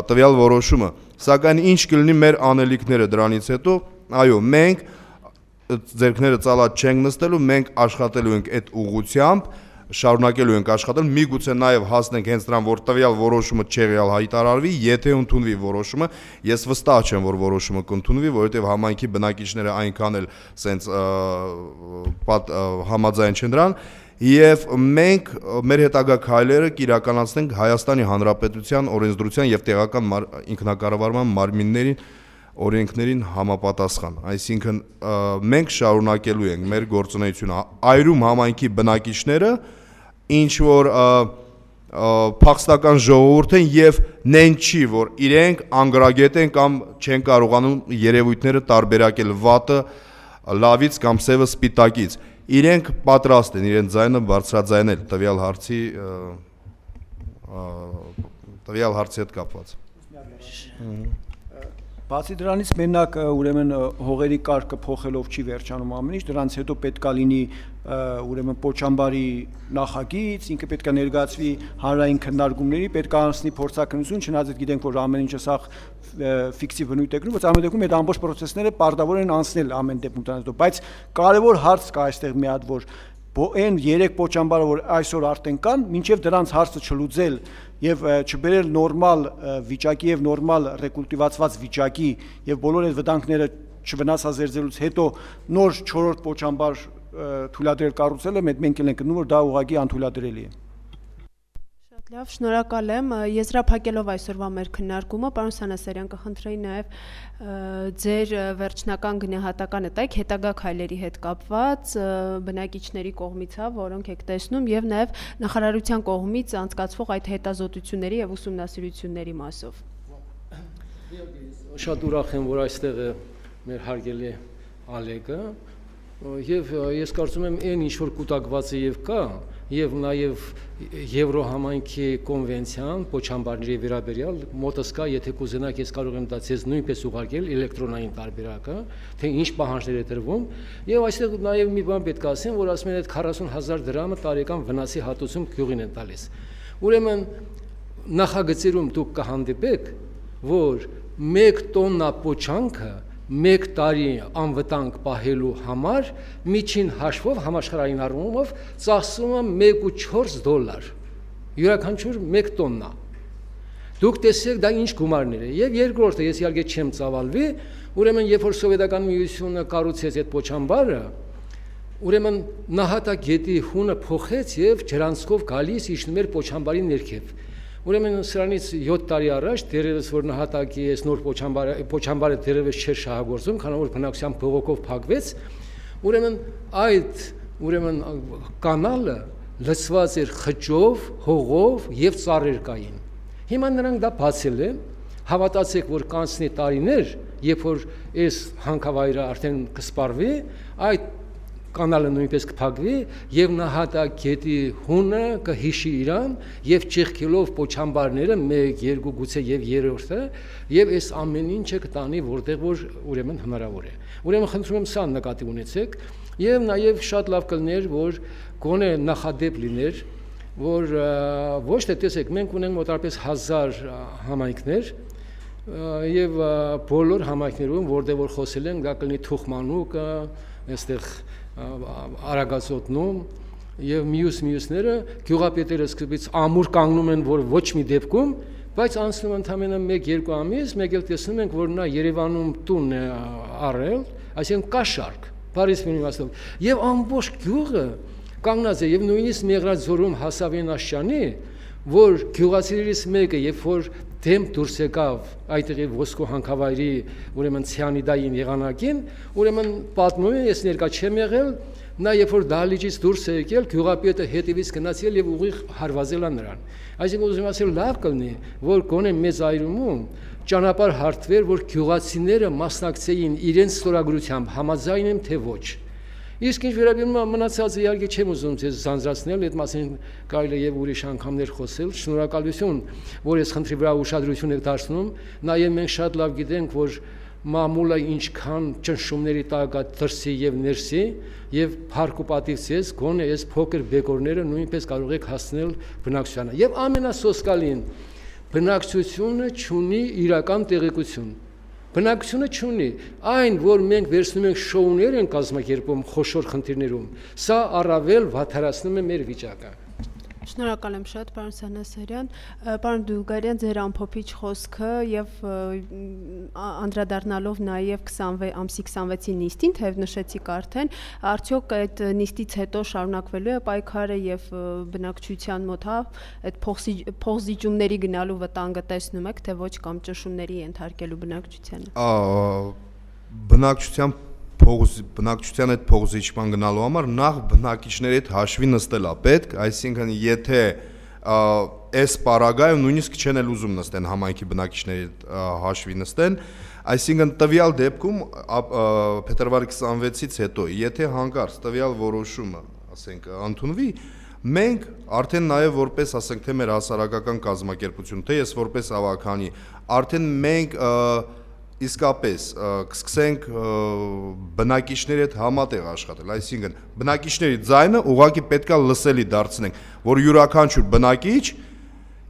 տվյալ որոշումը, սակայն ինչ կլինի մեր անելիքները դրանից հետո, այո, մենք ձեռքները ծալած չենք նստելու, մենք աշխատելու ենք այդ ուղղությամբ, շարունակելու ենք աշխատել, միգուցե նաև հասնենք հենց դրան, որ տվյալ որոշումը չեղյալ հայտարարվի, եթե ընդունվի որոշումը, ես վստահ չեմ, որ որոշումը կընդունվի, որովհետև համայնքի բնակիչները այնքան էլ սենց համաձայն չեն դրան, եւ մենք մեր հետագա քայլերը կիրականացնենք Հայաստանի Հանրապետության օրենսդրության եւ տեղական ինքնակառավարման մարմիններին օրենքներին համապատասխան, այսինքն մենք շարունակելու ենք մեր գործունեությունը, Այրում համայնքի բնակիչները ինչ որ փախստական ժողովուրդ են եւ նեն չի, որ իրենք անգրագետ են կամ չեն կարողանում երևույթները տարբերակել վատը լավից կամ սևը սպիտակից, իրենք պատրաստ են իրենց ձայնը բարձրաձայնել տվյալ հարցի տվյալ հարցի հետ կապված։ Բացի դրանից մենակ ուրեմն հողերի կարգը փոխելով չի վերջանում ամեն ինչ, դրանից հետո պետքա լինի ուրեմն Պոչամբարի նախագիծ, ինքը պետքա ներկայացվի հանրային քննարկումների, պետքա անցնի փորձաքննություն, չնայած գիտենք, որ ամեն ինչը սա ֆիկտիվ բնույթ է կրում, բայց ամեն դեպքում այդ ամբողջ պրոցեսները պարտավոր են անցնել ամեն դեպքում դրանից հետո, բայց կարևոր հարց կա այստեղ մի հատ, որ այն երեք Պոչամբարը, որ այսօր արդեն կան, մինչև դրանց հարցը չլուծել եւ չբերել նորմալ վիճակի եւ նորմալ ռեկուլտիվացված վիճակի եւ բոլոր այդ վտանգները չվնասազերծելուց հետո նոր չորրորդ Պոչամբար թույլատրել կառուցելը մենք ենք գտնում, որ դա ուղղակի անթույլատրելի է։ Շատ լավ, շնորհակալ եմ։ Եզրափակելով այսօրվա մեր քննարկումը, պարոն Սանասարյան, կխնդրեի նաև ձեր վերջնական գնահատականը տայք հետագա քայլերի հետ կապված բնակիչների կողմից, հա, որոնք եք տեսնում, եւ նաև նախարարության կողմից անցկացվող այդ հետազոտությունների եւ ուսումնասիրությունների մասով։ Շատ ուրախ եմ, որ այստեղ է մեր հարգելի Ալեգը, եւ ես կարծում եմ այն ինչ որ կուտակված է եւ կա, եւ նաեւ Եվրոհամայնքի կոնվենցիան Պոչամբարների վերաբերյալ մոտս կա, եթե կուզենաք ես կարող եմ դա ցեզ նույնպես ուղարկել էլեկտրոնային տարբերակը, թե ինչ պահանջներ է տրվում, եւ այստեղ նաեւ մի բան պետք է ասեմ, որ ասում են այդ քառասուն հազար դրամը տարեկան վնասի հատուցում գյուղին են տալիս։ Ուրեմն նախագծերում դուք կհանդիպեք, որ մեկ տոննա պոչանքը մեկ տարի անվտանգ պահելու համար միջին հաշվով համաշխարհային առումով ծախսում է մեկ կόμμα չորս դոլար յուրաքանչյուր մեկ տոննա։ Դուք տեսեք դա ինչ գումարներ է։ Եվ երկրորդը, ես իհարկե չեմ ծավալվի, ուրեմն երբ որ սովետական միությունը կառուցեց այդ Պոչամբարը, ուրեմն նահատակետի հունը փոխեց եւ ջրանցքով գալիս իջնում էր Պոչամբարի ներքև։ Ուրեմն սրանից յոթ տարի առաջ դերևս որ նահատակի այս նոր Պոչամբարը Պոչամբարը դերևս չէր շահագործում, քանի որ բնակության բողոքով փակվեց, ուրեմն այդ ուրեմն կանալը լցված էր խճով, հողով եւ ծառեր կային։ Հիմա նրանք դա բացել են, հավատացեք, որ կանցնի տարիներ, երբ որ այս հանքավայրը արդեն կսպառվի, այդ կանալը նույնպես կփակվի եւ նահատակետի հունը կհիշի իրան եւ ճեղքելով պոչամբարները մեկ, երկու, գուցե եւ երրորդը եւ այս ամեն ինչը կտանի որտեղ որ ուրեմն հնարավոր է։ Ուրեմն խնդրում եմ սա նկատի ունեցեք եւ նաեւ շատ լավ կլներ որ գոնե նախադեպ լիներ որ ոչ թե տեսեք մենք ունենք մոտավորապես հազար համայնքներ եւ բոլոր համայնքներում որտեղ որ խոսել են դա կլինի Թուխմանուկը այստեղ Արագածոտնում եւ մյուս մյուսները գյուղապետերը սկզբից ամուր կանգնում են որ ոչ մի դեպքում բայց անցնում ընդամենը մեկ երկու ամիս մեկ էլ տեսնում ենք որ նա Երևանում տուն է առել այսինքն կա շարք Փարիզ մինիմաստով եւ ամբողջ գյուղը կանգնած է եւ նույնիսկ Մեղրաձորում հասավ այն աշճանի որ գյուղացիներից մեկը երբ որ դեմ դուրս եկավ այդտեղի ոսկու հանքավայրի ուրեմն ցիանիդային եղանակին ուրեմն պատմում է ես ներկա չեմ եղել նա երբ որ դահլիճից դուրս է եկել գյուղապետը հետևից գնացել եւ ուղիղ հարվածել է նրան այսինքն ուզում ասել լավ կլինի որ գոնե մեծ այրումում ճանապարհ հարթվեր որ գյուղացիները մասնակցեին իրենց ստորագրությամբ համաձայն են թե ոչ Իսկ ինչ վերաբերում է մնացածը իհարկե չեմ ուզում ձեզ զանզրացնել, այդ մասին կարելի է եւ ուրիշ անգամներ խոսել։ Շնորհակալություն, որ ես խնդրի վրա ուշադրություն եք դարձնում, նաեւ մենք շատ լավ գիտենք, որ մամուլը ինչքան ճնշումների տակ է դրսի եւ ներսի եւ փառք ու պատիվ ցես, գոնե այս փոքր բեկորները նույնպես կարող եք հասնել բնակչությանը։ Եվ ամենասոսկալին բնակչությունը ունի իրական տեղեկություն։ Բնակչությունը չունի, այն, որ մենք վերցնում ենք շոուներ են կազմակերպում խոշոր խնդիրներում, սա առավել վատթարացնում է մեր վիճակը։ Շնորհակալ եմ շատ, պարոն Սանասարյան, պարոն Դուլգարյան, ձեր ամփոփիչ խոսքը եւ անդրադառնալով նաեւ ամսի քսանվեցի նիստին, թեև նշեցիք արդեն, արդյոք այդ նիստից հետո շարունակվելու է պայքարը եւ բնակչության մոտ հա այդ փոխզիջումների գնալու վտանգը տեսնում եք, թե ոչ կամ ճնշումների ենթարկելու բնակչությանը։ Բնակչության բնակչության այդ փոխզիջման գնալու համար նախ բնակիչների հետ հաշվի նստել է պետք, այսինքն եթե այս պարագայում նույնիսկ չեն էլ ուզում նստեն համայնքի բնակիչների հետ հաշվի նստեն, այսինքն տվյալ դեպքում փետրվարի քսանվեցից հետո եթե հանկարծ տվյալ որոշումը, ասենք, ընդունվի, մենք արդեն նաև որպես, ասենք, թե մեր հասարակական կազմակերպություն, թե ես որպես ավագանի, արդեն մենք իսկապես կսկսենք բնակիչների հետ համատեղ աշխատել, այսինքն բնակիչների ձայնը ուղղակի պետքա լսելի դարձնենք, որ յուրաքանչյուր բնակիչ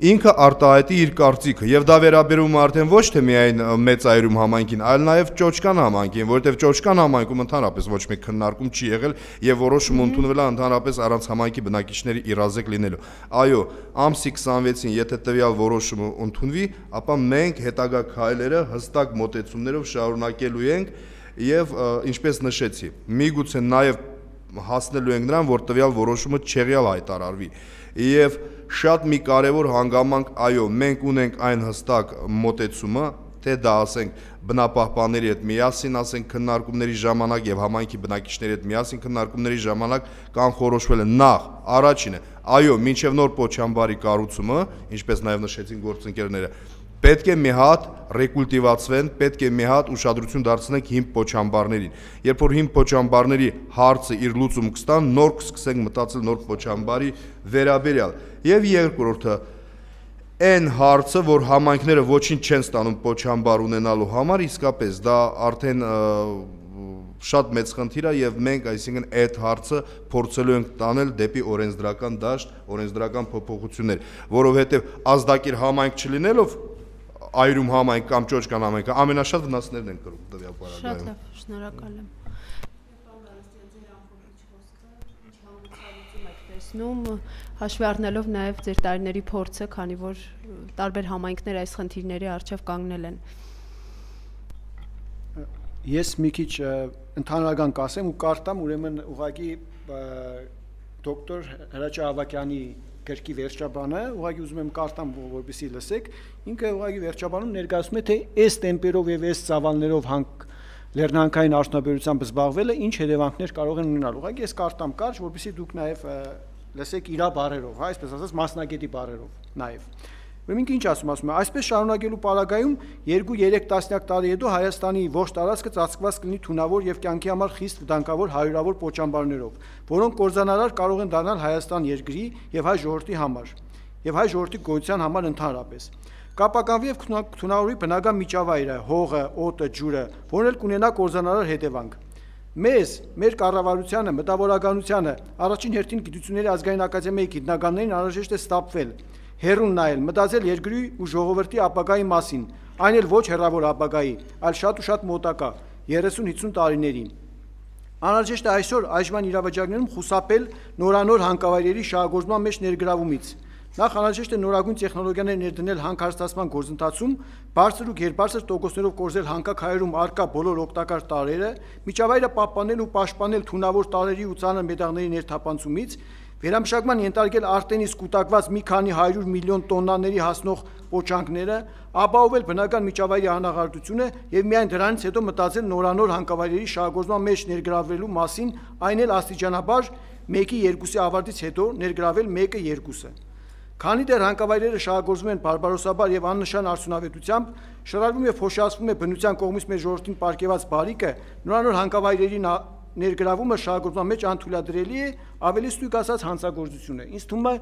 ինքը արտահայտի իր կարծիքը եւ դա վերաբերում է արդեն ոչ թե միայն մեծ այրում համայնքին, այլ նաեւ Ճոճկան համայնքին, որովհետեւ Ճոճկան համայնքում ընդհանրապես ոչ մի քննարկում չի եղել եւ որոշում ընդունվել է ընդհանրապես առանց համայնքի բնակիչների իրազեկ լինելու։ Այո, ամսի քսանվեցին եթե տվյալ որոշումը ընդունվի, ապա մենք հետագա քայլերը հստակ մոտեցումներով շարունակելու ենք եւ ինչպես նշեցի, միգուցե նաեւ հասնելու ենք նրան, որ տվյալ որոշումը չեղյալ հայտարարվի եւ շատ մի կարևոր հանգամանք, այո, մենք ունենք այն հստակ մոտեցումը, թե դա ասենք բնապահպանների հետ միասին, ասենք քննարկումների ժամանակ եւ համայնքի բնակիչների հետ միասին քննարկումների ժամանակ կանխորոշվել է նախ առաջինը, այո, մինչեւ նոր Պոչամբարի կառուցումը, ինչպես նաեւ նշեցին գործընկերները, պետք է մի հատ ռեկուլտիվացվեն, պետք է մի հատ ուշադրություն դարձնենք հիմ Պոչամբարներին։ Երբ որ հիմ Պոչամբարների հարցը իր լուծում կստան, նոր կսկսենք մտածել նոր Պոչամբարի վերաբերյալ։ Եվ երկրորդը, այն հարցը, որ համայնքները ոչինչ չեն ստանում Պոչամբար ունենալու համար, իսկապես դա արդեն շատ մեծ խնդիր է եւ մենք, այսինքն, այդ հարցը փորձելու ենք տանել դեպի օրենսդրական դաշտ, օրենսդրական փոփոխություններ, որովհետեւ ազդակիր համայնք չլինելով այրում համայնք կամ Ճոճկան համայնքը ամենաշատ վնասներն են կրում տվյալ պարագայում։ Շատ լավ, շնորհակալ եմ։ Հաշվի առնելով նաև ձեր տարիների փորձը, քանի որ տարբեր համայնքներ այս խնդիրների առջև կանգնել են։ Ես մի քիչ ընդհանրական կասեմ ու կարտամ ուրեմն ուղղակի դոկտոր Հրաչյա Ավագյանի գրքի վերջաբանը, ուղղակի ուզում եմ կարտամ, որպեսզի լսեք, ինքը ուղղակի վերջաբանում ներկայացնում է, թե այս տեմպերով եւ այս ծավալներով հանք լեռնանքային արդյունաբերությամբ զբաղվելը ինչ հետևանքներ կարող են ունենալ։ Ուղղակի ես կարտամ կարճ, որպեսզի դուք նաեւ լսեք իր բառերով, հա, այսպես ասած մասնագետի բառերով նաեւ։ Ուրեմն ինչ ասում, ասում է, այսպես շարունակելու պարագայում երկու երեք տասնյակ տարի հետո Հայաստանի ողջ տարածքը ծածկված կլինի թունավոր եւ կյանքի համար խիստ վտանգավոր հարյուրավոր պոչամբարներով, որոնք կորզանարար կարող են դառնալ Հայաստան երկրի եւ հայ ժողովրդի համար եւ հայ ժողովրդի գոյության համար ընդհանրապես։ Կապականվի եւ թունավորի բնական միջավայրը, հողը, օդը, ջուրը, որն էլ կունենա կորզանարար հետևանք։ Մեզ, մեր կառավարությանը, մտավորականությանը, առաջին հերթին գիտությունների ազգային ակադեմիայի գիտնականներին անհրաժեշտ է ստապվել, հեռուն նայել, մտածել երկրի ու ժողովրդի ապագայի մասին, այն էլ ոչ հեռավոր ապագայի, այլ շատ ու շատ մոտակա, երեսուն հիսուն տարիներին։ Անհրաժեշտ է այսօր այժմյան իրավիճակներում խուսափել նորանոր հանքավայրերի շահագործման մեջ ներգրավումից։ Նախ անհրաժեշտ է նորագույն տեխնոլոգիաներ ներդնել հանքարստացման գործընթացում, բարձր ու գերբարձր տոկոսներով կորզել հանքաքարերում առկա բոլոր օգտակար տարրերը, միջավայրը պահպանել ու պաշտպանել թունավոր տարրերի ու ծանր մետաղների ներթափանցումից, վերամշակման ենթարկել արտենից կուտակված մի քանի հարյուր միլիոն տոննաների հասնող պոչանքները, ապահովել բնական միջավայրի անաղարտությունը եւ միայն դրանից հետո մտածել նորանոր հանքավայրերի շահագործման մեջ ներգրավելու մասին, այն էլ աստիճանաբար մեկի երկուսի ավարտից հետո ներգրավել մեկը երկուսը։ Քանի դեռ հանքավայրերը շահագործվում են բարբարոսաբար եւ աննշան արդյունավետությամբ, շռայլվում եւ փոշիացվում է բնության կողմից մեր ժողովրդին պարգեված բարիկը, նորանոր հանքավայրերի ներգրավումը շահագործման մեջ անթույլատրելի է, ավելի ստույգ ասած հանցագործություն է։ Ինձ թվում է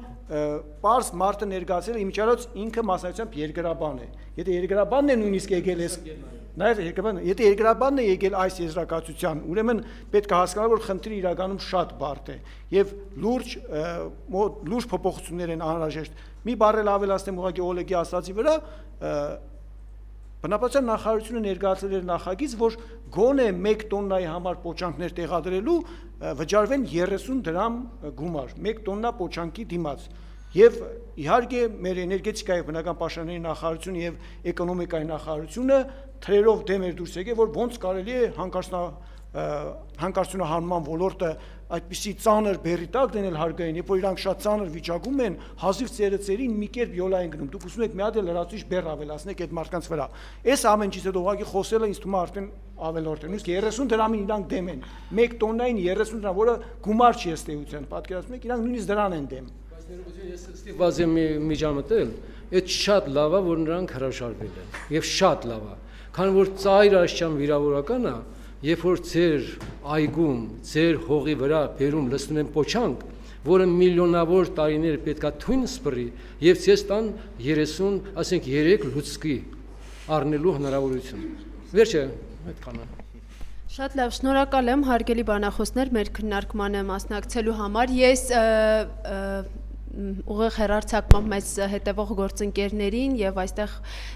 պարզ մարդը ներկայացել է իմիջիայլոց ինքը մասնավորությամբ երկրաբան է։ Եթե երկրաբանն է նույնիսկ եկել էս Նաև երկրաբանը, եթե երկրաբանն է եկել այս եզրակացության, ուրեմն պետք է հասկանալ, որ խնդիրը իրականում շատ բարդ է եւ լուրջ լուրջ փոփոխություններ են անհրաժեշտ։ Մի բառ էլ ավելացնեմ ուղղակի Օլեգի ասացի վրա, բնապահպանության նախարարությունը ներկայացրել էր նախագիծ, որ գոնե մեկ տոննայի համար պոչանքներ տեղադրելու վճարվեն երեսուն դրամ գումար, մեկ տոննա պոչանքի դիմաց։ Եվ իհարկե մեր էներգետիկայի բնական պաշտպանների նախարարությունը եւ էկոնոմիկայի նախարարությունը թրերով դեմ էր դուրս եկել, որ ոնց կարելի է հանկարծնա հանկարծունահանման ոլորտը այդպիսի ծանր բերի տակ դնել հարգային, երբ որ իրանք շատ ծանր վիճակում են, հազիվ ծերծերին մի կերպ յոլա են գնում։ Դուք ուզում եք մի հատ էլ լրացուցիչ բեռ ավելացնեք այդ մարդկանց վրա։ Այս ամեն ինչից հետո ուղղակի խոսելը ինձ թվում է արդեն ավելորդ է։ Նույնիսկ երեսուն դրամին իրանք դեմ են։ մեկ տոննային երեսուն դրամ, որը գումար չի ըստ էության, պատկերացնում եք, իրանք նույնիսկ դրան են դեմ։ Ես ստիպված եմ միջամտել, այդ շատ լավ է, որ նրանք հրաժարվել են, եւ շատ լավ է, քանի որ ծայր աշճան վիրավորականը, երբ որ ձեր այգում, ձեր հողի վրա բերում լցնում են պոչանք, որը միլիոնավոր տարիներ պետքա թույն սպռի, եւ ցես տան երեսուն, ասենք երեք լուցկի առնելու հնարավորություն։ Վերջը այդքանը։ Շատ լավ, շնորհակալ եմ հարգելի բանախոսներ մեր քննարկմանը մասնակցելու համար։ Ես ուղիղ հեռարձակմամբ մեզ հետևող գործընկերներին եւ այստեղ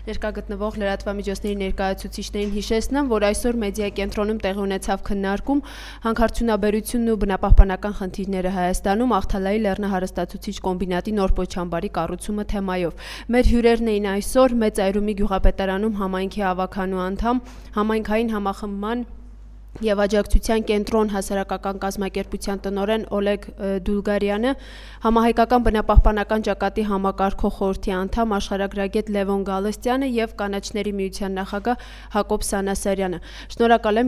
ներկա գտնվող լրատվամիջոցների ներկայացուցիչներին հիշեցնեմ, որ այսօր մեդիա կենտրոնում տեղի ունեցավ քննարկում հանքարդյունաբերությունն ու բնապահպանական խնդիրները Հայաստանում Ախթալայի լեռնահարստացուցիչ կոմբինատի նոր պոչամբարի կառուցումը թեմայով։ Մեր հյուրերն էին այսօր Մեծ Այրումի գյուղապետարանում համայնքի ավականու անդամ, համայնքային համախմբման եւ աջակցության կենտրոն հասարակական կազմակերպության տնօրեն Օլեգ Դուլգարյանը, համահայկական բնապահպանական ճակատի համակարգող խորհրդի անդամ աշխարհագրագետ Լևոն Գալստյանը եւ կանաչների միության նախագահ Հակոբ Սանասարյանը։ Շնորհակալ եմ